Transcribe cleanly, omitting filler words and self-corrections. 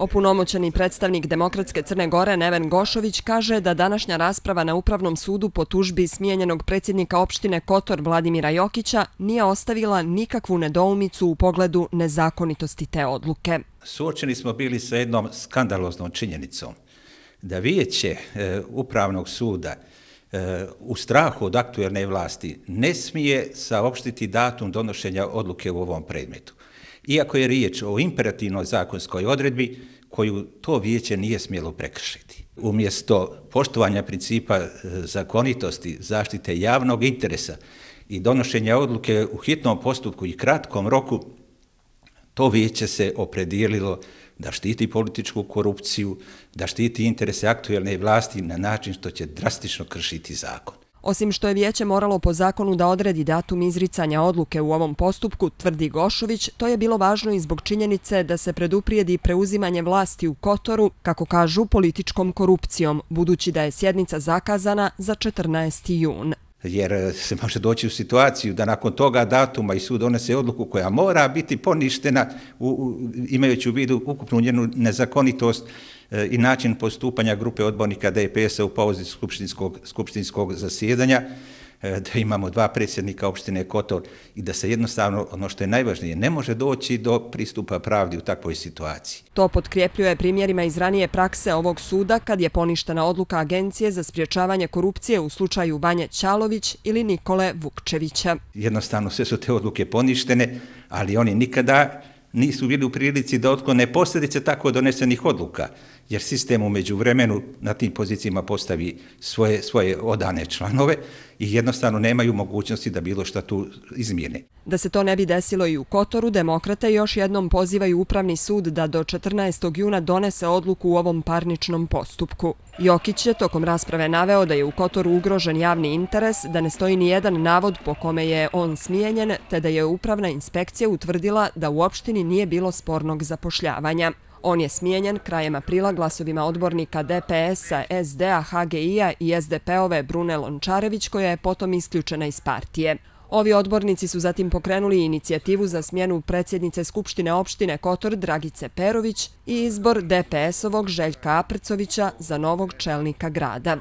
Opunomoćeni predstavnik Demokratske Crne Gore Neven Gošović kaže da današnja rasprava na Upravnom sudu po tužbi smijenjenog predsjednika opštine Kotor Vladimira Jokića nije ostavila nikakvu nedoumicu u pogledu nezakonitosti te odluke. Suočeni smo bili sa jednom skandaloznom činjenicom da vijeće Upravnog suda u strahu od aktuelne vlasti ne smije saopštiti datum donošenja odluke u ovom predmetu. Iako je riječ o imperativnoj zakonskoj odredbi koju to vijeće nije smjelo prekršiti. Umjesto poštovanja principa zakonitosti, zaštite javnog interesa i donošenja odluke u hitnom postupku i kratkom roku, to vijeće se opredijelilo da štiti političku korupciju, da štiti interese aktuelne vlasti na način što će drastično kršiti zakon. Osim što je vijeće moralo po zakonu da odredi datum izricanja odluke u ovom postupku, tvrdi Gošović, to je bilo važno i zbog činjenice da se preduprijedi preuzimanje vlasti u Kotoru, kako kažu, političkom korupcijom, budući da je sjednica zakazana za 14. jun. Jer se može doći u situaciju da nakon toga datuma i sud donese odluku koja mora biti poništena imajući u vidu ukupnu njenu nezakonitost i način postupanja grupe odbornika DPS-a u pauzi skupštinskog zasjedanja, da imamo 2 predsjednika opštine Kotor i da se jednostavno, ono što je najvažnije, ne može doći do pristupa pravdi u takvoj situaciji. To potkrjepljuje primjerima iz ranije prakse ovog suda kad je poništena odluka Agencije za sprječavanje korupcije u slučaju Vanje Ćalović ili Nikole Vukčevića. Jednostavno sve su te odluke poništene, ali oni nikada nisu bili u prilici da otklone posljedice tako donesenih odluka, jer sistem u međuvremenu na tim pozicijama postavi svoje odane članove i jednostavno nemaju mogućnosti da bilo šta tu izmijene. Da se to ne bi desilo i u Kotoru, demokrate još jednom pozivaju Upravni sud da do 14. juna donese odluku u ovom parničnom postupku. Jokić je tokom rasprave naveo da je u Kotoru ugrožen javni interes, da ne stoji ni jedan navod po kome je on smijenjen, te da je upravna inspekcija utvrdila da u opštini nije bilo spornog zapošljavanja. On je smijenjen krajem aprila glasovima odbornika DPS-a, SD-a, HGI-a i SDP-ove Brune Lončarević, koja je potom isključena iz partije. Ovi odbornici su zatim pokrenuli inicijativu za smjenu predsjednice Skupštine opštine Kotor Dragice Perović i izbor DPS-ovog Željka Aprcovića za novog čelnika grada.